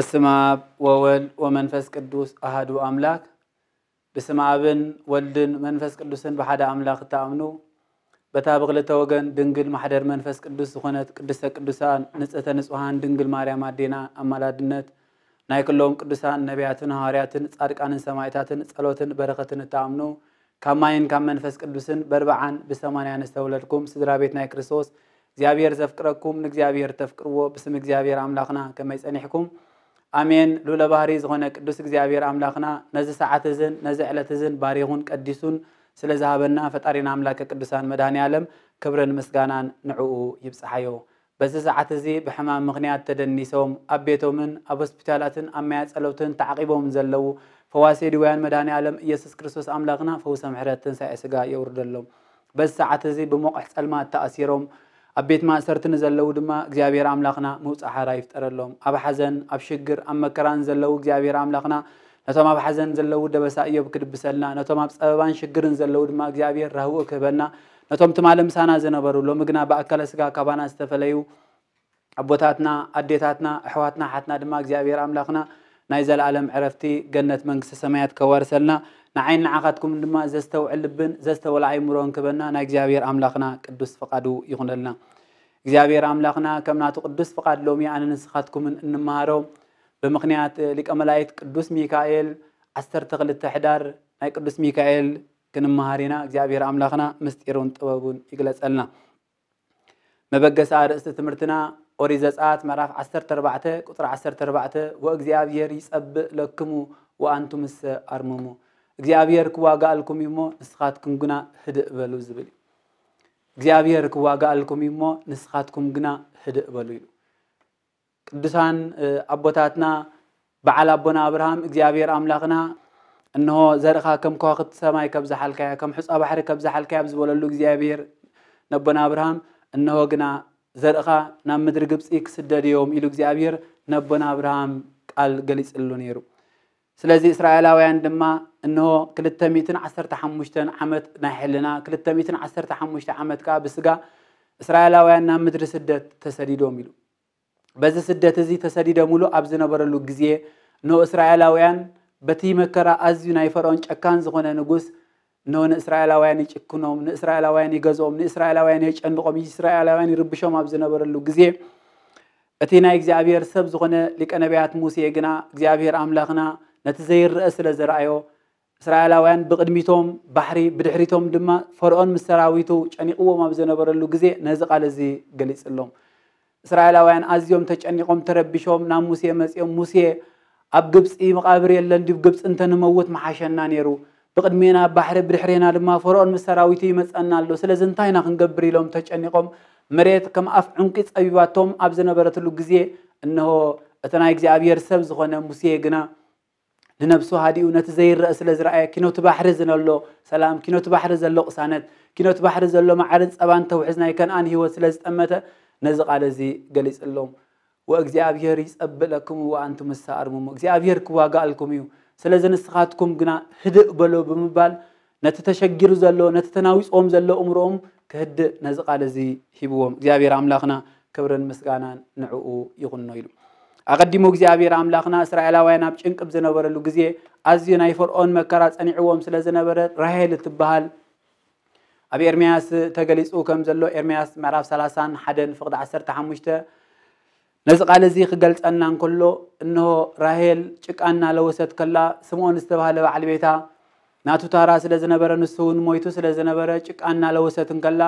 በስመ አብ ወወልድ ወመንፈስ ቅዱስ አሐዱ አምላክ። በስመ አብን ወልድን መንፈስ ቅዱስን ብሓደ ኣምላኽ እትኣምኑ፣ በታ ብክልተ ወገን ድንግል ማሕደር መንፈስ ቅዱስ ዝኾነት ቅድስተ ቅዱሳን ንጽህተ ንጹሃን ድንግል ማርያም ኣዴና ኣማላድነት፣ ናይ ኩሎም ቅዱሳን ነቢያትን ሃዋርያትን ጻድቃንን ሰማዕታትን ጸሎትን በረኸትን እትኣምኑ፣ ካብ ማይን ካብ መንፈስ ቅዱስን በርብዓን ብሰማንያን ዝተወለድኩም ስድራ ቤት ናይ ክርስቶስ፣ እግዚኣብሔር ዘፍቅረኩም ንእግዚኣብሔር ተፍቅርዎ፣ ብስም እግዚኣብሔር ኣምላኽና ከመይ ጸኒሕኩም? ኣሜን። ልዑለ ባህሪ ዝኾነ ቅዱስ እግዚኣብሔር ኣምላኽና ነዚ ሰዓት እዝን ነዚ ዕለት እዝን ባሪኹን ቀዲሱን ስለ ዝሃበና ፈጣሪና ኣምላከ ቅዱሳን መድኃኔ ዓለም ክብርን ምስጋናን ንዕኡ ይብጽሓዮ። በዚ ሰዓት እዚ ብሕማም ምኽንያት ተደኒሶም ኣብ ቤቶምን ኣብ ሆስፒታላትን ኣብ ማያ ጸሎትን ተዓቂቦም ዘለዉ ፈዋሲ ድውያን መድኃኔ ዓለም ኢየሱስ ክርስቶስ ኣምላኽና ፈውሰ ምሕረት ትንሳኤ ስጋ የውርደሎም። በዚ ሰዓት እዚ ብሞቕሕ ጸልማት ተኣሲሮም ኣብ ቤት ማእሰርቲ ንዘለዉ ድማ እግዚኣብሔር ኣምላኽና ምውጻእ ሓራ ይፍጠረሎም። ኣብ ሓዘን፣ ኣብ ሽግር፣ ኣብ መከራን ዘለዉ እግዚኣብሔር ኣምላኽና ነቶም ኣብ ሓዘን ዘለዉ ደበሳ እዮብ ክድብሰልና፣ ነቶም ኣብ ጸበባን ሽግርን ዘለዉ ድማ እግዚኣብሔር ራህውኡ ክህበና፣ ነቶም ትማሊ ምሳና ዝነበሩ ሎሚ ግና ብኣካለ ስጋ ካባና ዝተፈለዩ ኣቦታትና፣ ኣዴታትና፣ ኣሕዋትና፣ ሓትና ድማ እግዚኣብሔር ኣምላኽና ናይ ዘለኣለም ዕረፍቲ ገነት መንግስተ ሰማያት ከዋርሰልና፣ ንዓይን ንዓኻትኩምን ድማ ዘስተውዕል ልብን ዘስተውዕል ኣእምሮን ክበና ናይ እግዚኣብሔር ኣምላኽና ቅዱስ ፍቓዱ ይኹነልና። እግዚኣብሔር ኣምላኽና ከም ናቱ ቅዱስ ፍቓድ ሎሚ ኣነ ንስኻትኩምን እንመሃሮ ብምኽንያት ሊቀ መላእክት ቅዱስ ሚካኤል ዓሰርተ ክልተ ሕዳር ናይ ቅዱስ ሚካኤል ክንመሃር ኢና። እግዚኣብሔር ኣምላኽና ምስጢሩን ጥበቡን ይግለጸልና። መበገሲ ኣርእስቲ ትምህርትና ኦሪት ዘጸኣት ምዕራፍ ዓሰርተ ኣርባዕተ ቁጽሪ ዓሰርተ ኣርባዕተ፣ "ወእግዚኣብሔር ይጸብእ ለክሙ ወኣንቱምሰ ኣርምሙ።" እግዚኣብሔር ክዋጋኣልኩም እዩ እሞ ንስኻትኩም ግና ህድእ በሉ ዝብል እዩ። እግዚኣብሔር ክዋጋኣልኩም እዩ እሞ ንስኻትኩም ግና ህድእ በሉ ኢሉ። ቅዱሳን፣ እ፣ ኣቦታትና በዓል ኣቦና ኣብርሃም እግዚኣብሔር ኣምላኽና እንሆ ዘርእኻ ከም ከዋኽብቲ ሰማይ ከብዝሓልካያ፣ ከም ሑጻ ባሕሪ ከብዝሓልካያ ኣብ ዝበለሉ እግዚኣብሔር ነቦና ኣብርሃም እንሆ ግና ዘርእኻ ናብ ምድሪ ግብጺ ክስደድ እዮም ኢሉ እግዚኣብሔር ነቦና ኣብርሃም ቃል ገሊጽሉ ነይሩ። ስለዚ እስራኤላውያን ድማ እንሆ ክልተ ሚእትን ዓሰርተ ሓሙሽተን ዓመት ናይ ሕልና፣ ክልተ ሚእትን ዓሰርተ ሓሙሽተ ዓመት ከኣ ብስጋ እስራኤላውያን ናብ ምድሪ ስደት ተሰዲዶም ኢሉ። በዚ ስደት እዚ ተሰዲዶምሉ ኣብ ዝነበረሉ ግዜ፣ እንሆ እስራኤላውያን በቲ መከራ ኣዝዩ ናይ ፈርዖን ጨካን ዝኾነ ንጉስ፣ እንሆ ንእስራኤላውያን ይጭክኖም፣ ንእስራኤላውያን ይገዝኦም፣ ንእስራኤላውያን የጨንቖም፣ እስራኤላውያን ይርብሾም ኣብ ዝነበረሉ ግዜ፣ እቲ ናይ እግዚኣብሔር ሰብ ዝኾነ ሊቀ ነቢያት ሙሴ ግና እግዚኣብሔር ኣምላኽና ነቲ ዘይረአ ስለ ዘርኣዮ፣ እስራኤላውያን ብቕድሚቶም ባሕሪ፣ ብድሕሪቶም ድማ ፈርዖን ምስ ሰራዊቱ ጨኒቕዎም ኣብ ዝነበረሉ ግዜ ነዚ ቃል እዚ ገሊጽሎም። እስራኤላውያን ኣዝዮም ተጨኒቖም፣ ተረቢሾም ናብ ሙሴ መጺኦም፣ "ሙሴ፣ ኣብ ግብጺ መቓብር የለን ድዩ? ግብጺ እንተንመውት ምሓሸና ነይሩ። ብቕድሜና ባሕሪ፣ ብድሕሬና ድማ ፈርዖን ምስ ሰራዊቱ ይመጸና ኣሎ። ስለዚ እንታይ ኢና ክንገብር?" ኢሎም ተጨኒቖም፣ መሬት ከም ኣፍ ዕንቂ ጸቢባቶም ኣብ ዝነበረትሉ ግዜ፣ እንሆ እቲ ናይ እግዚኣብሔር ሰብ ዝኾነ ሙሴ ግና ንነብሱ ሃዲኡ ነቲ ዘይረአ ስለ ዝረኣየ፣ ኪኖቲ ባሕሪ ዝነሎ ሰላም፣ ኪኖቲ ባሕሪ ዘሎ ቅሳነት፣ ኪኖቲ ባሕሪ ዘሎ መዓርን ጸባን ተውሕዝ ናይ ከነኣን ህይወት ስለ ዝጠመተ፣ ነዚ ቃል እዚ ገሊጽሎም። "ወእግዚኣብሔር ይጸብእ ለክሙ ወኣንቱምሰ ኣርምሙ።" እግዚኣብሔር ክዋጋኣልኩም እዩ። ስለዚ ንስኻትኩም ግና ህድእ በሎ ብምባል፣ ነቲ ተሸጊሩ ዘሎ፣ ነቲ ተናዊጽዎም ዘሎ እምሮኦም ክህድእ ነዚ ቃል እዚ ሂብዎም። እግዚኣብሔር ኣምላኽና ክብርን ምስጋናን ንዕኡ ይኹኖ ኢሉ። ኣቐዲሙ እግዚኣብሔር ኣምላኽና እስራኤላውያን ኣብ ጭንቂ ኣብ ዝነበረሉ ግዜ፣ ኣዝዩ ናይ ፈርዖን መከራ ጸኒዕዎም ስለ ዝነበረ፣ ራሄል እትበሃል ኣብ ኤርምያስ ተገሊጹ ከም ዘሎ፣ ኤርምያስ ምዕራፍ ሰላሳን ሓደን ፍቕዲ ዓሰርተ ሓሙሽተ፣ ነዚ ቃል እዚ ክገልጸልና እንከሎ፣ እንሆ ራሄል ጭቃ እናለወሰት ከላ፣ ስምዖን ዝተባህለ በዓል ቤታ ናቱ ታራ ስለ ዝነበረ፣ ንሱ እውን ሞይቱ ስለ ዝነበረ፣ ጭቃ እናለወሰት እንከላ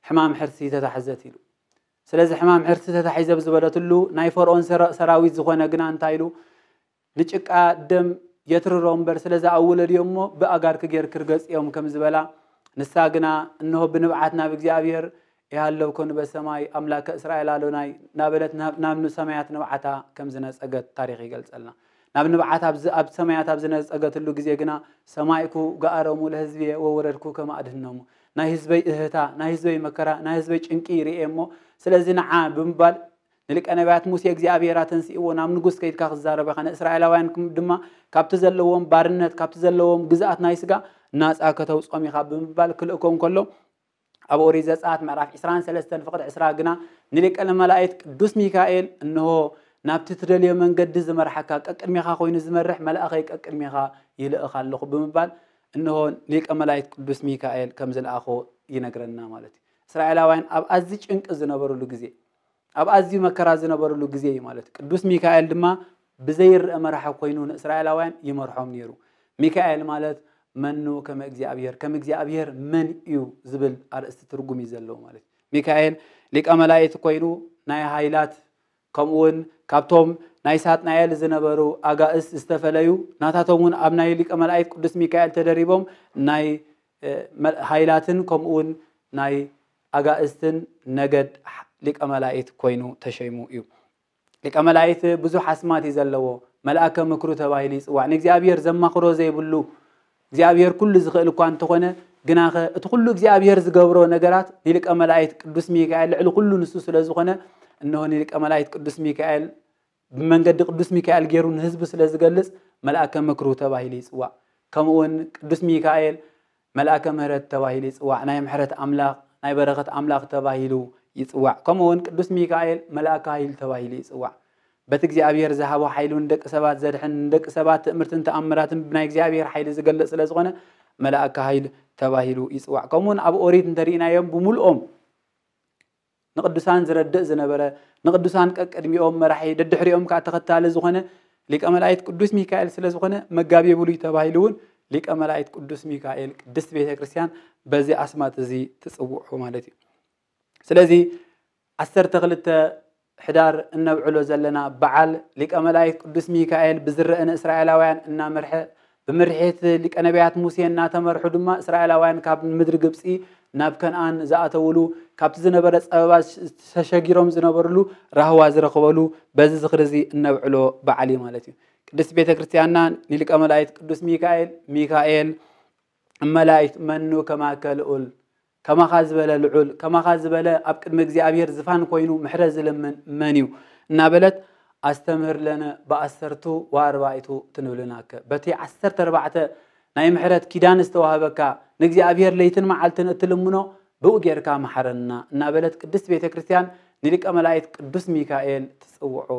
ሕማም ሕርሲ ተታሕዘት ኢሉ። ስለዚ ሕማም ሕርሲ ተታሒዘ ኣብ ዝበለትሉ፣ ናይ ፈርዖን ሰራ-፣ ሰራዊት ዝኾነ ግና እንታይ ኢሉ? "ንጭቃ ደም የትርሮ እምበር፣ ስለዚ ኣብ ወለድዮ እሞ ብኣጋርኪ ጌርኪ ርገጽዮም" ከም ዝበላ፣ ንሳ ግና፣ "እንሆ ብንብዓት ናብ እግዚኣብሔር ይሃለውኮ ንበሰማይ ኣምላከ እስራኤል ኣሎናይ" እናበለት ናብ፣ ናብ ሰማያት ንብዓታ ከም ዝነጸገት ታሪኽ ይገልጸልና። ናብ ንብዓት ኣብ ዝ-፣ ኣብ ሰማያት ኣብ ዝነጸገትሉ ግዜ ግና፣ "ሰማይኩ ገኣረሙ ለህዝብየ ወወረድኩ ከመ ኣድህኖሙ"፣ ናይ ህዝበይ እህታ፣ ናይ ህዝበይ መከራ፣ ናይ ህዝበይ ጭንቂ ይርኤ እሞ፣ ስለዚ ንዓ ብምባል ንሊቀ ነቢያት ሙሴ እግዚኣብሔር ኣተንሲእዎ ናብ ንጉስ ከይድካ ክዛረብ ኢኻ፣ ንእስራኤላውያን ክም-፣ ድማ ካብቲ ዘለዎም ባርነት፣ ካብቲ ዘለዎም ግዝኣት ናይ ስጋ ናጻ ከተውጾም ኢኻ ብምባል ክልእኮ እንከሎ፣ ኣብ ኦሪት ዘጸኣት ምዕራፍ ዕስራን ሰለስተን ፍቕዲ ዕስራ ግና ንሊቀ መላእክት ቅዱስ ሚካኤል፣ "እንሆ ናብቲ ትደልዮ መንገዲ ዝመርሓካ፣ ቀቅድሜኻ ኮይኑ ዝመርሕ መልኣኸይ ቀቅድሜኻ ይልእኽ ኣለኹ ብምባል፣ እንሆ ሊቀ መላእክት ቅዱስ ሚካኤል ከም ዝለኣኾ ይነግረና ማለት እዩ። እስራኤላውያን ኣብ ኣዝዩ ጭንቂ ዝነበሩሉ ግዜ፣ ኣብ ኣዝዩ መከራ ዝነበሩሉ ግዜ እዩ ማለት እዩ። ቅዱስ ሚካኤል ድማ ብዘይረአ መራሒ ኮይኑ ንእስራኤላውያን ይመርሖም ነይሩ። ሚካኤል ማለት መኑ ከመ እግዚኣብሔር፣ ከም እግዚኣብሔር መን እዩ ዝብል ኣርእስቲ ትርጉም እዩ ዘለዎ ማለት እዩ። ሚካኤል ሊቀ መላእክት ኮይኑ ናይ ሃይላት፣ ከምኡ እውን ካብቶም ናይ ሳጥናኤል ዝነበሩ ኣጋእዝት ዝተፈለዩ፣ ናታቶም እውን ኣብ ናይ ሊቀ መላእክት ቅዱስ ሚካኤል ተደሪቦም ናይ፣ እ፣ መ-፣ ሃይላትን ከምኡ እውን ናይ ኣጋእዝትን ነገድ ሊቀ መላእክት ኮይኑ ተሸይሙ እዩ። ሊቀ መላእክት ብዙሕ ኣስማት እዩ ዘለዎ። መልኣከ ምክሩ ተባሂሉ ይጽዋዕ። ንእግዚኣብሔር ዘማኽሮ ዘይብሉ፣ እግዚኣብሔር ኩሉ ዝኽእል እኳ እንተኾነ፣ ግናኸ እቲ ኩሉ እግዚኣብሔር ዝገብሮ ነገራት ንሊቀ መላእክት ቅዱስ ሚካኤል ልዕሊ ኩሉ ንሱ ስለ ዝኾነ፣ እንሆ ንሊቀ መላእክት ቅዱስ ሚካኤል ብመንገዲ ቅዱስ ሚካኤል ገይሩ ንህዝቢ ስለ ዝገልጽ፣ መልኣከ ምክሩ ተባሂሉ ይጽዋዕ። ከምኡ እውን ቅዱስ ሚካኤል መልኣከ ምሕረት ተባሂሉ ይጽዋዕ። ናይ ምሕረት ኣምላኽ፣ ናይ በረኸት ኣምላኽ ተባሂሉ ይጽዋዕ። ከምኡ እውን ቅዱስ ሚካኤል መልኣከ ኃይል ተባሂሉ ይጽዋዕ። በቲ እግዚኣብሔር ዝሃቦ ሓይሉ ንደቂ ሰባት ዘድሕን፣ ንደቂ ሰባት ትእምርትን ተኣምራትን ብናይ እግዚኣብሔር ሓይሊ ዝገልጽ ስለ ዝኾነ፣ መልኣከ ኃይል ተባሂሉ ይጽዋዕ። ከምኡ እውን ኣብ ኦሪት እንተሪእናዮም፣ ብምልኦም ንቅዱሳን ዝረድእ ዝነበረ፣ ንቅዱሳን ቀቅድሚኦም መራሒ፣ ደድሕሪኦም ከዓ ተኸታሊ ዝኾነ ሊቀ መላእክት ቅዱስ ሚካኤል ስለ ዝኾነ፣ መጋቤ ብሉይ ተባሂሉ እውን ሊቀ መላእክት ቅዱስ ሚካኤል ቅድስት ቤተ ክርስቲያን በዚ ኣስማት እዚ ትጽውዖ ማለት እዩ። ስለዚ ዓሰርተ ክልተ ሕዳር እነብዕሎ ዘለና በዓል ሊቀ መላእክት ቅዱስ ሚካኤል ብዝረአ ንእስራኤላውያን እናመርሐ፣ ብምርሒት ሊቀ ነቢያት ሙሴ እናተመርሑ ድማ እስራኤላውያን ካብ ምድሪ ግብጺ ናብ ከነኣን ዝኣተውሉ፣ ካብቲ ዝነበረ ጸበባ ተሸጊሮም ዝነበርሉ ራህዋ ዝረኽበሉ፣ በዚ ዝኽሪ እዚ እነብዕሎ በዓል እዩ ማለት እዩ። ቅድስት ቤተ ክርስቲያንና ንሊቀ መላእክት ቅዱስ ሚካኤል፣ ሚካኤል እመላእክት መኑ ከማከ ልዑል፣ ከማኻ ዝበለ ልዑል፣ ከማኻ ዝበለ ኣብ ቅድሚ እግዚኣብሔር ዝፋን ኮይኑ ምሕረት ዝልምን መን እዩ? እናበለት ኣስተምህር ለነ ብዓሰርቱ ወኣርባዕቱ ትንብልናከ። በቲ ዓሰርተ ኣርባዕተ ናይ ምሕረት ኪዳን ዝተዋህበካ፣ ንእግዚኣብሔር ለይትን መዓልትን እትልምኖ ብኡ ጌርካ መሓረና እናበለት ቅድስት ቤተ ክርስቲያን ንሊቀ መላእክት ቅዱስ ሚካኤል ትጽውዖ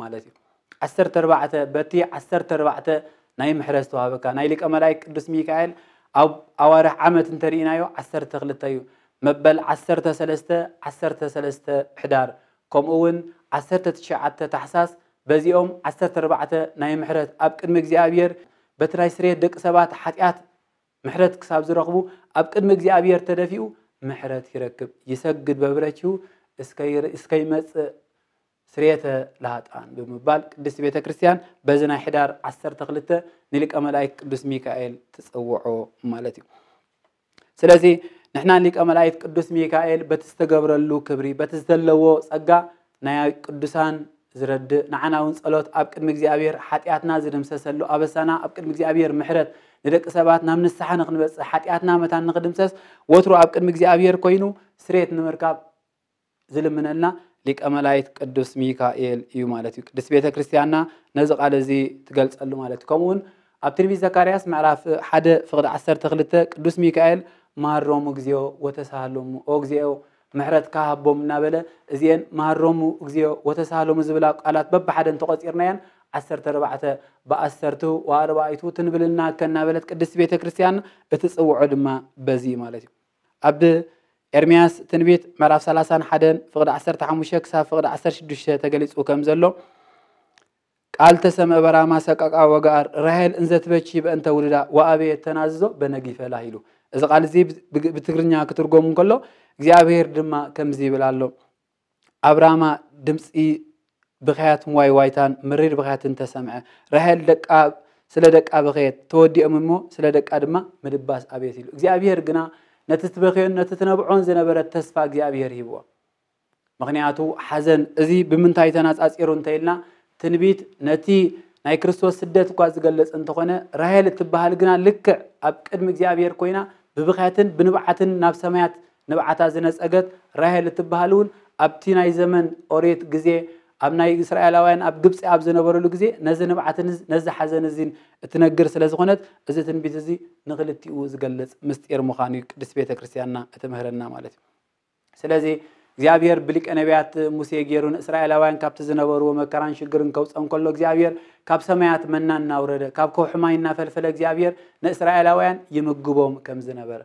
ማለት እዩ። ዓሰርተ ኣርባዕተ፣ በቲ ዓሰርተ ኣርባዕተ ናይ ምሕረት ዝተዋህበካ ናይ ሊቀ መላእክት ቅዱስ ሚካኤል ኣብ ኣዋርሕ ዓመት እንተሪእናዮ ዓሰርተ ክልተ እዩ። መበል ዓሰርተ ሰለስተ፣ ዓሰርተ ሰለስተ ሕዳር፣ ከምኡ እውን ዓሰርተ ትሽዓተ ታሕሳስ፣ በዚኦም ዓሰርተ ኣርባዕተ ናይ ምሕረት ኣብ ቅድሚ እግዚኣብሔር በቲ ናይ ስርየት ደቂ ሰባት ሓጢኣት ምሕረት ክሳብ ዝረኽቡ ኣብ ቅድሚ እግዚኣብሔር ተደፊኡ ምሕረት ይረክብ። ይሰግድ በብረችሁ እስከ ይር-፣ እስከ ይመጽእ ስርየተ ለሃጣን ብምባል ቅድስት ቤተ ክርስቲያን በዚ ናይ ሕዳር ዓሰርተ ክልተ ንሊቀ መላእክት ቅዱስ ሚካኤል ትጽውዖ ማለት እዩ። ስለዚ ንሕና ሊቀ መላእክት ቅዱስ ሚካኤል በቲ ዝተገብረሉ ክብሪ፣ በቲ ዘለዎ ጸጋ ናይ ቅዱሳን ዝረድእ፣ ንዓና እውን ጸሎት ኣብ ቅድሚ እግዚኣብሔር ሓጢኣትና ዝድምሰሰሉ፣ ኣበሳና ኣብ ቅድሚ እግዚኣብሔር ምሕረት፣ ንደቂ ሰባት ናብ ንስሓ ንኽንበጽሕ፣ ሓጢኣትና መታን ንኽድምሰስ፣ ወትሩ ኣብ ቅድሚ እግዚኣብሔር ኮይኑ ስርየት ንምርካብ ዝልምነልና ሊቀ መላእክት ቅዱስ ሚካኤል እዩ ማለት እዩ። ቅድስት ቤተ ክርስቲያንና ነዚ ቃል እዚ ትገልጸሉ ማለት እዩ። ከምኡ እውን ኣብ ትንቢት ዘካርያስ ምዕራፍ ሓደ ፍቕዲ ዓሰርተ ክልተ ቅዱስ ሚካኤል መሃሮሙ እግዚኦ ወተሳሃሎሙ፣ ኦ እግዚኦ ምሕረትካ ሃቦም እናበለ፣ እዚኤን መሃሮሙ እግዚኦ ወተሳሃሎሙ ዝብላ ቃላት በብሓደ እንተቖጺርናየን ዓሰርተ ኣርባዕተ ብዓሰርቱ ወኣርባዕቱ ትንብልና ከናበለት ቅድስት ቤተ ክርስቲያን እትጽውዖ ድማ በዚ እዩ ማለት እዩ። ኣብ ኤርምያስ ትንቢት ምዕራፍ ሰላሳን ሓደን ፍቕዲ ዓሰርተ ሓሙሽተ ክሳብ ፍቕዲ ዓሰርተ ሽዱሽተ ተገሊጹ ከም ዘሎ፣ ቃል ተሰምዐ በራማ ሰቃቃ ወገኣር፣ ራሄል እንዘትበኪ በእንተ ውሉዳ ወአበየት ተናዝዞ በነጊፈላ ኢሉ። እዚ ቃል እዚ ብ-፣ ብ-፣ ብትግርኛ ክትርጎም እንከሎ፣ እግዚኣብሔር ድማ ከምዚ ይብል ኣሎ፣ ኣብ ራማ ድምፂ ብኽያትን ዋይ ዋይታን መሪር ብኽያትን ተሰምዐ። ራሄል ደቃ፣ ስለ ደቃ በኸየት፣ ተወዲኦም እሞ ስለ ደቃ ድማ ምድባስ ኣቤት ኢሉ። እግዚኣብሔር ግና ነቲ ትበኽዮን ነቲ ትነብዖን ዝነበረት ተስፋ እግዚኣብሔር ሂብዎ። ምኽንያቱ ሓዘን እዚ ብምንታይ ተነጻጺሩ እንተኢልና፣ ትንቢት ነቲ ናይ ክርስቶስ ስደት እኳ ዝገልጽ እንተኾነ፣ ራሄል እትበሃል ግና ልክዕ ኣብ ቅድሚ እግዚኣብሔር ኮይና ብብኽያትን ብንብዓትን ናብ ሰማያት ንብዓታ ዝነጸገት ራሄል እትበሃል እውን ኣብቲ ናይ ዘመን ኦሪት ግዜ ኣብ ናይ እስራኤላውያን ኣብ ግብጺ ኣብ ዝነበሩሉ ግዜ ነዚ ንብዓትን ነዚ ሓዘን እዚን እትነግር ስለ ዝኾነት፣ እዚ ትንቢት እዚ ንኽልቲኡ ዝገልጽ ምስጢር ምዃኑ እዩ ቅድስት ቤተ ክርስቲያንና እትምህረና ማለት እዩ። ስለዚ እግዚኣብሔር ብሊቀ ነቢያት ሙሴ ገይሩ ንእስራኤላውያን ካብቲ ዝነበርዎ መከራን ሽግርን ከውፀም ከሎ እግዚኣብሔር ካብ ሰማያት መና እናውረደ ካብ ከውሒ ማይ እናፈልፈለ እግዚኣብሔር ንእስራኤላውያን ይምግቦም ከም ዝነበረ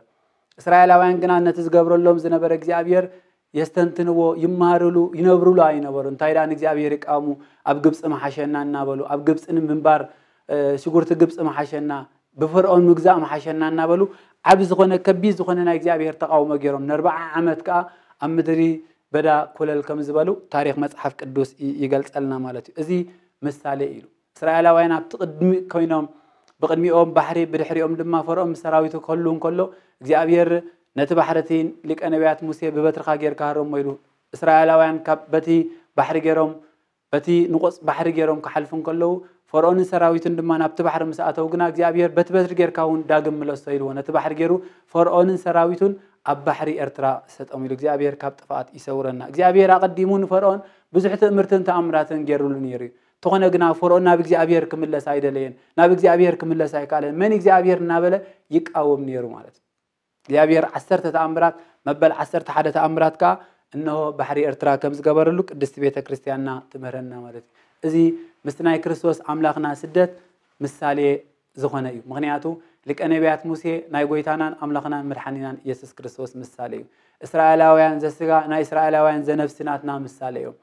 እስራኤላውያን ግና ነቲ ዝገብረሎም ዝነበረ እግዚኣብሔር የስተንትንዎ ይመሃርሉ ይነብሩሉ ኣይነበሩ እንታይ ደኣ ንእግዚኣብሔር ይቃወሙ ኣብ ግብፂ መሓሸና እናበሉ ኣብ ግብፂ ንምንባር ሽጉርቲ ግብፂ መሓሸና ብፈርኦን ምግዛእ መሓሸና እናበሉ ዓብ ዝኾነ ከቢድ ዝኾነ ናይ እግዚኣብሔር ተቃውሞ ገይሮም ንኣርባዓ ዓመት ከዓ ኣብ ምድሪ በዳ ኮለል ከም ዝበሉ ታሪክ መፅሓፍ ቅዱስ ይገልፀልና ማለት እዩ እዚ ምሳሌ እዩ እስራኤላውያን ኣብቲ ቅድሚ ኮይኖም ብቅድሚኦም ባሕሪ ብድሕሪኦም ድማ ፈርኦን ምስ ሰራዊቱ ክህሉ እንከሎ እግዚኣብሔር ነቲ ባሕርቲ ሊቀ ነቢያት ሙሴ ብበትርካ ጌርካ ሃረሞ ኢሉ እስራኤላውያን በቲ ባሕሪ ገይሮም በቲ ንቆፅ ባሕሪ ገይሮም ክሓልፉ እንከለዉ ፈርኦንን ሰራዊቱን ድማ ናብቲ ባሕሪ ምስ ኣተው ግና እግዚኣብሔር በቲ በትሪ ጌርካ እውን ዳግም ምለሶ ኢልዎ ነቲ ባሕሪ ገይሩ ፈርኦንን ሰራዊቱን ኣብ ባሕሪ ኤርትራ ሰጠሙ ኢሉ እግዚኣብሔር ካብ ጥፍኣት ይሰውረና እግዚኣብሔር ኣቐዲሙ ንፈርኦን ብዙሕ ትእምርትን ተኣምራትን ገይሩሉ ነይሩ እዩ እንተኾነ ግና ፈርኦን ናብ እግዚኣብሔር ክምለስ ኣይደለየን ናብ እግዚኣብሔር ክምለስ ኣይከኣለን መን እግዚኣብሔር እናበለ ይቃወም ነይሩ ማለት እዩ እግዚኣብሔር ዓሰርተ ተኣምራት መበል ዓሰርተ ሓደ ተኣምራት ከዓ እነሆ ባሕሪ ኤርትራ ከም ዝገበረሉ ቅድስቲ ቤተ ክርስቲያንና ትምህረና ማለት እዩ እዚ ምስቲ ናይ ክርስቶስ ኣምላኽና ስደት ምሳሌ ዝኾነ እዩ ምክንያቱ ሊቀ ነቢያት ሙሴ ናይ ጎይታናን ኣምላኽናን መድሓኒናን ኢየሱስ ክርስቶስ ምሳሌ እዩ እስራኤላውያን ዘስጋ ናይ እስራኤላውያን ዘነፍሲ ናትና ምሳሌ እዮም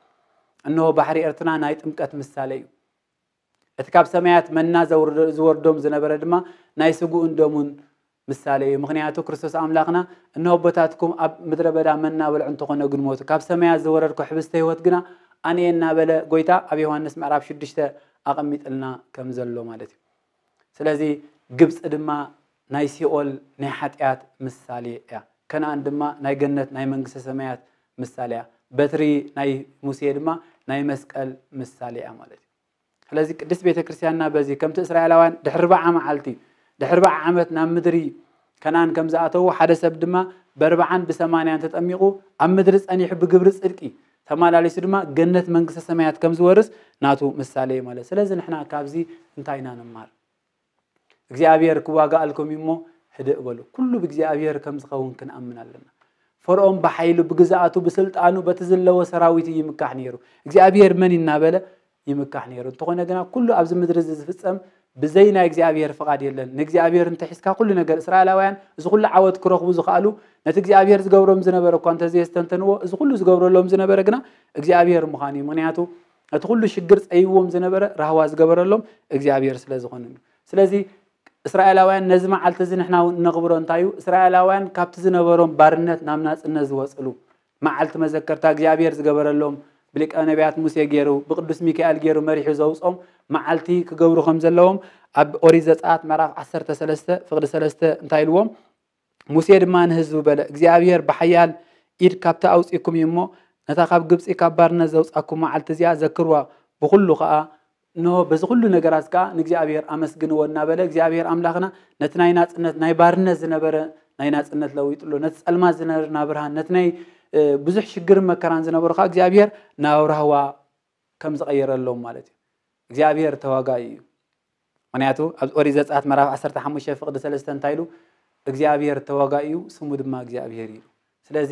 እነሆ ባሕሪ ኤርትራ ናይ ጥምቀት ምሳሌ እዩ እቲ ካብ ሰማያት መና ዝወርዶም ዝነበረ ድማ ናይ ስግኡን ደሙን ምሳሌ እዩ ምክንያቱ ክርስቶስ ኣምላኽና እነሆ ኣቦታትኩም ኣብ ምድረ በዳ መና በልዑ እንተኾነ ግንሞቱ ካብ ሰማያት ዝወረድኩ ሕብስተ ህይወት ግና ኣነየ እናበለ ጎይታ ኣብ ዮሃንስ ምዕራፍ ሽዱሽተ ኣቐሚጥልና ከም ዘሎ ማለት እዩ ስለዚ ግብፂ ድማ ናይ ሲኦል ናይ ሓጢኣት ምሳሌ እያ ከነኣን ድማ ናይ ገነት ናይ መንግስተ ሰማያት ምሳሌ እያ በትሪ ናይ ሙሴ ድማ ናይ መስቀል ምሳሌ እያ ማለት እዩ ስለዚ ቅድስት ቤተ ክርስቲያንና በዚ ከምቲ እስራኤላውያን ድሕሪ ርብዓ መዓልቲ ድሕሪ ርብዓ ዓመት ናብ ምድሪ ከነኣን ከም ዝኣተዉ ሓደ ሰብ ድማ በርብዓን ብሰማንያን ተጠሚቑ ኣብ ምድሪ ጸኒሑ ብግብሪ ጽድቂ ተመላሊሱ ድማ ገነት መንግስተ ሰማያት ከም ዝወርስ ናቱ ምሳሌ እዩ ማለት ስለዚ ንሕና ካብዚ እንታይ ኢና ንማር እግዚኣብሔር ክዋጋኣልኩም እዩ እሞ ህድእ በሉ ኩሉ ብእግዚኣብሔር ከም ዝኸውን ክንኣምን ኣለና ፈርኦን ብሓይሉ ብግዝኣቱ ብስልጣኑ በቲ ዝለዎ ሰራዊት እዩ ይምካሕ ነይሩ እግዚኣብሔር መን እናበለ ይምካሕ ነይሩ እንተኾነ ግና ኩሉ ኣብዚ ምድሪ እዚ ዝፍፀም ብዘይ ናይ እግዚኣብሔር ፍቓድ የለን ንእግዚኣብሔር እንተሒዝካ ኩሉ ነገር እስራኤላውያን እዚ ኩሉ ዓወት ክረኽቡ ዝኽኣሉ ነቲ እግዚኣብሔር ዝገብሮም ዝነበረ እኳ እንተዘየስተንተንዎ እዚ ኩሉ ዝገብረሎም ዝነበረ ግና እግዚኣብሔር ምዃኑ እዩ ምክንያቱ እቲ ኩሉ ሽግር ፀይዎም ዝነበረ ራህዋ ዝገበረሎም እግዚኣብሔር ስለ ዝኾነ እዩ ስለዚ እስራኤላውያን ነዚ መዓልቲ እዚ ንሕና እውን እነኽብሮ እንታይ እዩ እስራኤላውያን ካብቲ ዝነበሮም ባርነት ናብ ናፅነት ዝወፅሉ መዓልቲ መዘከርታ እግዚኣብሔር ዝገበረሎም ብሊቀ ነቢያት ሙሴ ገይሩ ብቅዱስ ሚካኤል ገይሩ መሪሑ ዘውፆም መዓልቲ ክገብሩ ከም ዘለዎም ኣብ ኦሪት ዘፀኣት ምዕራፍ ዓሰርተ ሰለስተ ፍቅዲ ሰለስተ እንታይ ኢልዎም ሙሴ ድማ ንህዝቡ በለ እግዚኣብሔር ብሓያል ኢድ ካብቲ ኣውፂእኩም እዩ እሞ ነታ ካብ ግብፂ ካብ ባርነት ዘውፃኩም መዓልቲ እዚኣ ዘክርዋ ብኩሉ ከዓ እንሆ በዚ ኩሉ ነገራት ከዓ ንእግዚኣብሔር ኣመስግንዎ እናበለ እግዚኣብሔር ኣምላኽና ነቲ ናይ ናፅነት ናይ ባርነት ዝነበረ ናይ ናፅነት ለዊጥሎ ነቲ ፀልማት ዝነበርና ብርሃን ነቲ ናይ ብዙሕ ሽግርን መከራን ዝነበሩ ከዓ እግዚኣብሔር ናብ ራህዋ ከም ዝቐየረሎም ማለት እዩ እግዚኣብሔር ተዋጋኢ እዩ ምክንያቱ ኣብ ኦሪት ዘፅኣት መራፍ ዓሰርተ ሓሙሽተ ፍቅዲ ሰለስተ እንታይ ኢሉ እግዚኣብሔር ተዋጋኢ እዩ ስሙ ድማ እግዚኣብሔር እዩ ስለዚ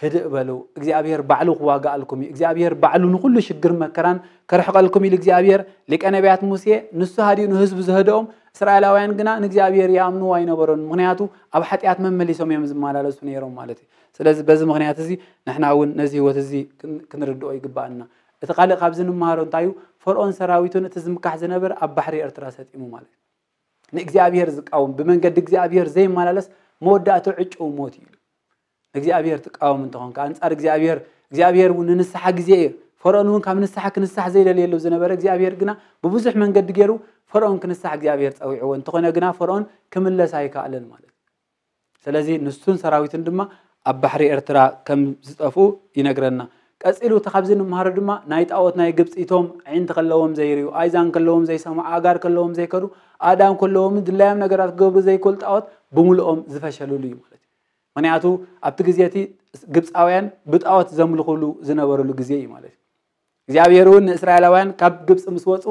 ህድእ በሉ እግዚኣብሔር ባዕሉ ክዋጋኣልኩም እዩ እግዚኣብሔር ባዕሉ ንኩሉ ሽግር መከራን ከርሕቀልኩም ኢሉ እግዚኣብሔር ሊቀ ነቢያት ሙሴ ንሱ ሃዲኡ ንህዝቡ ዝህድኦም እስራኤላውያን ግና ንእግዚኣብሔር ይኣምንዎ ኣይነበሩን ምክንያቱ ኣብ ሓጢኣት መመሊሶም እዮም ዝመላለሱ ነይሮም ማለት እዩ ስለዚ በዚ ምክንያት እዚ ንሕና እውን ነዚ ህይወት እዚ ክንርድኦ ይግባኣና እቲ ካልእ ካብዚ ንምሃሮ እንታይ እዩ ፈርኦን ሰራዊቱን እቲ ዝምካሕ ዝነበር ኣብ ባሕሪ ኤርትራ ሰጢሙ ማለት እዩ ንእግዚኣብሔር ዝቃወም ብመንገዲ እግዚኣብሔር ዘይመላለስ መወዳእቱ ዕጭው ሞት እዩ ንእግዚኣብሔር ትቃወም እንተኾንካ ኣንጻር እግዚኣብሔር እግዚኣብሔር እውን ንንስሓ ግዜ እዩ ፈርኦን እውን ካብ ንስሓ ክንስሕ ዘይደልየሉ ዝነበረ እግዚኣብሔር ግና ብብዙሕ መንገዲ ገይሩ ፈርኦን ክንስሕ እግዚኣብሔር ጸዊዕዎ እንተኾነ ግና ፈርኦን ክምለስ ኣይከኣለን ማለት ስለዚ ንሱን ሰራዊቱን ድማ ኣብ ባሕሪ ኤርትራ ከም ዝጠፍኡ ይነግረና ቀጺሉ እቲ ካብዚ ንምሃሮ ድማ ናይ ጣዖት ናይ ግብፂ እቶም ዕንቲ ከለዎም ዘይርዩ ኣይዛን ከለዎም ዘይሰምዑ ኣጋር ከለዎም ዘይከዱ ኣእዳም ከለዎም ድላዮም ነገራት ክገብሩ ዘይክእል ጣዖት ብምልኦም ዝፈሸልሉ እዩ ማለት እዩ ምክንያቱ ኣብቲ ግዜ እቲ ግብፃውያን ብጣዖት ዘምልኹሉ ዝነበሩሉ ግዜ እዩ ማለት እዩ እግዚኣብሔር እውን ንእስራኤላውያን ካብ ግብፂ ምስ ወፁ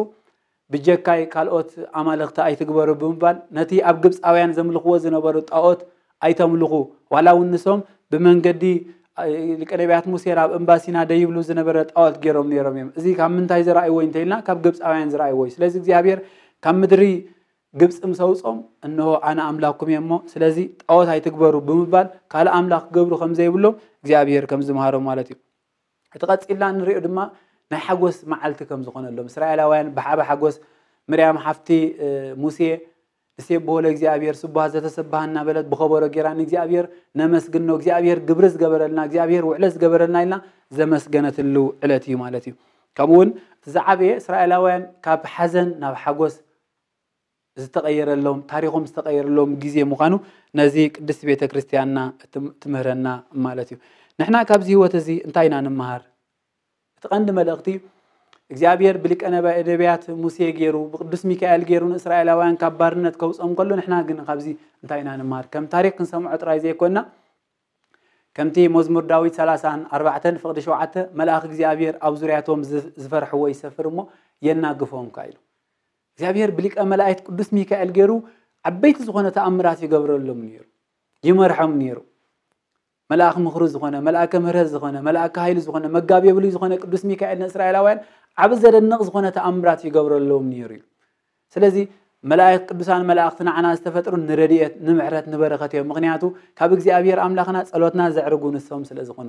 ብጀካይ ካልኦት ኣማልኽቲ ኣይትግበሩ ብምባል ነቲ ኣብ ግብፃውያን ዘምልኽዎ ዝነበሩ ጣዖት ኣይተምልኹ ዋላ እውን ንሶም ብመንገዲ ሊቀ ነቢያት ሙሴ ኣብ እምባ ሲና ደይብሉ ዝነበረ ጣዖት ገይሮም ነይሮም እዮም። እዚ ካብ ምንታይ ዝረኣይዎ እንተኢልና ካብ ግብፃውያን ዝረኣይዎ እዩ። ስለዚ እግዚኣብሔር ካብ ምድሪ ግብፂ ምስ ኣውፆም እንሆ ኣነ ኣምላኽኩም እየ እሞ ስለዚ ጣዖት ኣይትግበሩ ብምባል ካልእ ኣምላኽ ክገብሩ ከም ዘይብሎም እግዚኣብሔር ከም ዝምሃሮም ማለት እዩ። እቲ ቀፂልና እንሪኦ ድማ ናይ ሓጎስ መዓልቲ ከም ዝኾነሎም እስራኤላውያን ብዓቢ ሓጎስ ምርያም ሓፍቲ ሙሴ ንሴብሖ ለእግዚኣብሔር ስቡሃ ዘተሰብሃ እናበለት ብኸበሮ ጌራ ንእግዚኣብሔር ነመስግኖ እግዚኣብሔር ግብሪ ዝገበረልና እግዚኣብሔር ውዕለት ዝገበረልና ኢልና ዘመስገነትሉ ዕለት እዩ ማለት እዩ። ከምኡ እውን እቲ ዝዓበየ እስራኤላውያን ካብ ሓዘን ናብ ሓጎስ ዝተቐየረሎም ታሪኾም ዝተቐየረሎም ግዜ ምዃኑ ነዚ ቅድስቲ ቤተ ክርስቲያንና ትምህረና ማለት እዩ። ንሕና ካብዚ ህይወት እዚ እንታይ ኢና ንምሃር? እቲ ቀንዲ መልእኽቲ እግዚኣብሔር ብሊቀ ነቢያት ሙሴ ገይሩ ብቅዱስ ሚካኤል ገይሩ ንእስራኤላውያን ካብ ባርነት ከውፅኦም ከሎ ንሕና ግን ካብዚ እንታይ ኢና ንምሃር? ከም ታሪክ ክንሰምዖ ጥራይ ዘይኮንና ከምቲ መዝሙር ዳዊት ሰላሳን ኣርባዕተን ፍቕዲ ሸውዓተ መልኣኽ እግዚኣብሔር ኣብ ዙርያቶም ዝፈርሕዎ ይሰፍር እሞ የናግፎም ከ ኢሉ እግዚኣብሔር ብሊቀ መላእክት ቅዱስ ሚካኤል ገይሩ ዓበይቲ ዝኾነ ተኣምራት ይገብረሎም ነይሩ፣ ይመርሖም ነይሩ። መልኣክ ምኽሪ ዝኾነ፣ መልኣከ ምህረት ዝኾነ፣ መልኣከ ሃይሊ ዝኾነ፣ መጋቤ ብሉይ ዝኾነ ቅዱስ ሚካኤል ንእስራኤላውያን ዓቢ ዘደንቕ ዝኾነ ተኣምራት ይገብረሎም ነይሩ እዩ። ስለዚ መላእክት ቅዱሳን መላእክቲ ንዓና ዝተፈጥሩ ንረድኤት ንምሕረት ንበረኸት እዮም። ምኽንያቱ ካብ እግዚኣብሔር ኣምላኽና ጸሎትና ዘዕርጉ ንሶም ስለ ዝኾኑ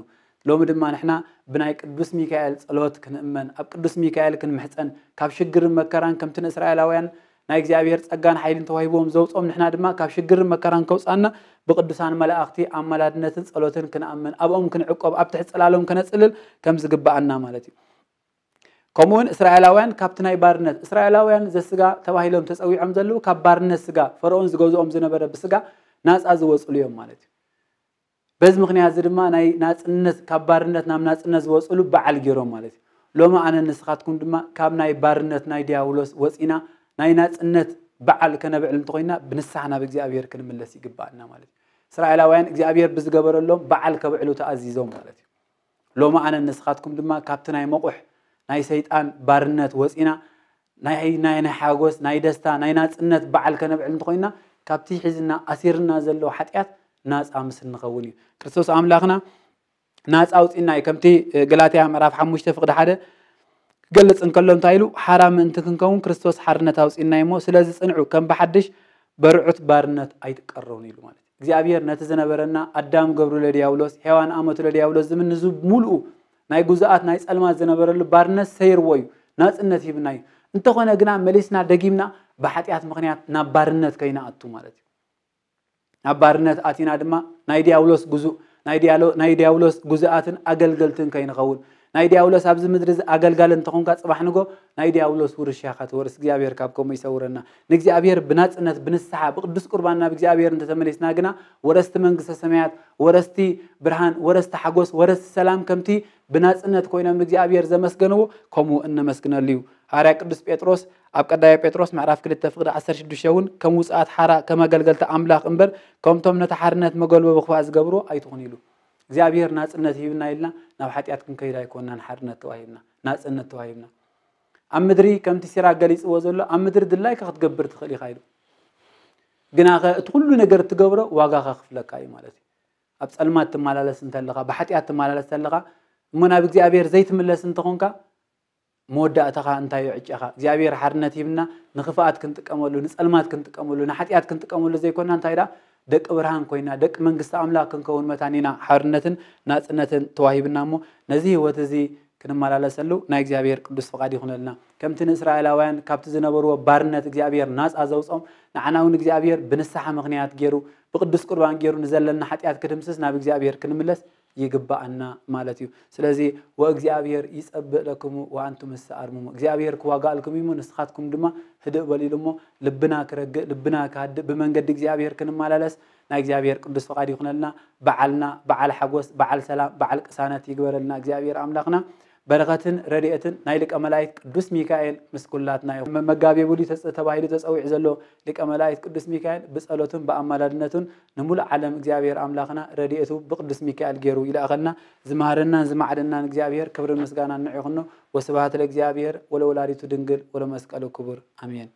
ሎሚ ድማ ንሕና ብናይ ቅዱስ ሚካኤል ጸሎት ክንእመን ኣብ ቅዱስ ሚካኤል ክንምሕጸን ካብ ሽግርን መከራን ከምቲ ንእስራኤላውያን ናይ እግዚኣብሔር ጸጋን ሓይልን ተዋሂብዎም ዘውፅኦም ንሕና ድማ ካብ ሽግርን መከራን ከውፃና ብቅዱሳን መላእኽቲ ኣማላድነትን ጸሎትን ክንኣምን ኣብኦም ክንዕቆብ ኣብ ትሕቲ ጽላሎም ከነጽልል ከም ዝግብኣና ማለት እዩ። ከምኡውን እስራኤላውያን ካብቲ ናይ ባርነት እስራኤላውያን ዘስጋ ተባሂሎም ተጸዊዖም ዘለዉ ካብ ባርነት ስጋ ፈርኦን ዝገዝኦም ዝነበረ ብስጋ ናጻ ዝወፅሉ እዮም ማለት እዩ። በዚ ምኽንያት እዚ ድማ ናይ ናጽነት ካብ ባርነት ናብ ናጽነት ዝወፅሉ በዓል ገይሮም ማለት እዩ። ሎሚ ኣነ ንስኻትኩም ድማ ካብ ናይ ባርነት ናይ ዲያብሎስ ወፂና ናይ ናጽነት በዓል ከነብዕል እንተኮይና ብንስሓ ናብ እግዚኣብሔር ክንምለስ ይግባኣና ማለት እዩ። እስራኤላውያን እግዚኣብሔር ብዝገበረሎም በዓል ከብዕሉ ተኣዚዞም ማለት እዩ። ሎሚ ኣነ ንስኻትኩም ድማ ካብቲ ናይ መቑሕ ናይ ሰይጣን ባርነት ወፂና ናይ ናይ ናይ ሓጎስ ናይ ደስታ ናይ ናፅነት በዓል ከነብዕል እንተኮይና ካብቲ ሒዝና ኣሲርና ዘሎ ሓጢኣት ናፃ ምስ እንኸውን እዩ። ክርስቶስ ኣምላኽና ናፃ ኣውፂና እዩ። ከምቲ ገላትያ ምዕራፍ ሓሙሽተ ፍቕዲ ሓደ ክገልፅ እንከሎ እንታይ ኢሉ ሓራ ምእንቲ ክንከውን ክርስቶስ ሓርነት ኣውፂና እሞ ስለዚ ፅንዑ ከም ብሓድሽ በርዑት ባርነት ኣይትቀረውን ኢሉ ማለት እዩ። እግዚኣብሔር ነቲ ዝነበረና ኣዳም ገብሩ ለዲያብሎስ ሔዋን ኣመቱ ለዲያብሎስ ዝብል ንዚ ሙሉኡ ናይ ጉዛኣት ናይ ጸልማት ዝነበረሉ ባርነት ሰይርዎ እዩ ናጽነት ሂብና እዩ። እንተኾነ ግና መሊስና ደጊምና ብሓጢኣት ምኽንያት ናብ ባርነት ከይንኣቱ ማለት እዩ። ናብ ባርነት ኣቲና ድማ ናይ ዲያብሎስ ጉዙእ ናይ ዲያሎ- ናይ ዲያብሎስ ጉዙኣትን ኣገልገልትን ከይንኸውን ናይ ዲያብሎስ ኣብዚ ምድሪ እዚ ኣገልጋሊ እንተኾንካ ጽባሕ ንጎ ናይ ዲያብሎስ ውርሻ ኢኻ ትወርስ እግዚኣብሔር ካብ ከምኡ ይሰውረና። ንእግዚኣብሔር ብናጽነት ብንስሓ ብቅዱስ ቁርባን ናብ እግዚኣብሔር እንተተመሊስና ግና ወረስቲ መንግስተ ሰማያት ወረስቲ ብርሃን ወረስቲ ሓጎስ ወረስቲ ሰላም ከምቲ ብናጽነት ኮይኖም ንእግዚኣብሔር ዘመስገንዎ ከምኡ እነመስግነሉ እዩ። ሃዋርያ ቅዱስ ጴጥሮስ ኣብ ቀዳማይ ጴጥሮስ ምዕራፍ ክልተ ፍቕዲ ዓሰርተ ሽዱሽተ እውን ከም ውጹኣት ሓራ ከም ኣገልገልቲ ኣምላኽ እምበር ከምቶም ነቲ ሓርነት መገልበቢ ክፋእ ዝገብርዎ ኣይትኹኑ ኢሉ። እግዚኣብሔር ናጽነት ሂብና ኢልና ናብ ሓጢኣት ክንከይድ ኣይኮንናን ሓርነት ተዋሂብና ናጽነት ተዋሂብና። ኣብ ምድሪ ከምቲ ሲራክ ገሊጽዎ ዘሎ ኣብ ምድሪ ድላይካ ክትገብር ትኽእል ኢኻ ኢሉ። ግናኸ እቲ ኩሉ ነገር እትገብሮ ዋጋ ከኽፍለካ እዩ ማለት እዩ። ኣብ ጸልማት ትመላለስ እንተለኻ ብሓጢኣት ትመላለስ እንተለኻ እሞ ናብ እግዚኣብሔር ዘይትምለስ እንተኾንካ መወዳእታኻ እንታይ እዩ ዕጨኻ እግዚኣብሔር ሓርነት ሂብና ንኽፍኣት ክንጥቀመሉ ንጸልማት ክንጥቀመሉ ንሓጢኣት ክንጥቀመሉ ዘይኮና እንታይ ደኣ ደቂ ብርሃን ኮይና ደቂ መንግስቲ ኣምላኽ ክንከውን መታን ኢና ሓርነትን ናጽነትን ተዋሂብና እሞ ነዚ ህይወት እዚ ክንመላለሰሉ ናይ እግዚኣብሔር ቅዱስ ፍቓድ ይኹነልና። ከምቲ ንእስራኤላውያን ካብቲ ዝነበርዎ ባርነት እግዚኣብሔር ናጻ ዘውጾም ንዓና እውን እግዚኣብሔር ብንስሓ ምኽንያት ገይሩ ብቅዱስ ቁርባን ገይሩ ንዘለና ሓጢኣት ክድምስስ ናብ እግዚኣብሔር ክንምለስ ይግባኣና ማለት እዩ። ስለዚ ወእግዚኣብሔር ይጸብእ ለክሙ ወኣንቱም እሰ ኣርምሙ እግዚኣብሔር ክዋጋእልኩም እዩ ንስኻትኩም ድማ ህድእ በሉ ኢሉ እሞ ልብና ክረግእ ልብና ክሃድእ ብመንገዲ እግዚኣብሔር ክንመላለስ ናይ እግዚኣብሔር ቅዱስ ፍቓድ ይኹነልና። በዓልና በዓል ሓጎስ በዓል ሰላም በዓል ቅሳነት ይግበረልና እግዚኣብሔር ኣምላኽና። በረኸትን ረድኤትን ናይ ሊቀ መላእክት ቅዱስ ሚካኤል ምስ ኩላትና ይኹን። መጋቤ ብሉይ ተባሂሉ ተጸዊዑ ዘሎ ሊቀ መላእክት ቅዱስ ሚካኤል ብጸሎቱን ብኣማላድነቱን ንሙሉእ ዓለም እግዚኣብሔር ኣምላኽና ረድኤቱ ብቅዱስ ሚካኤል ገይሩ ይልኣኸልና። ዝመሃረናን ዝማዕደናን እግዚኣብሔር ክብርን ምስጋናን ንዑ ይኹኖ። ወስብሐት ለእግዚኣብሔር ወለወላዲቱ ድንግል ወለመስቀሉ ክቡር ኣሜን።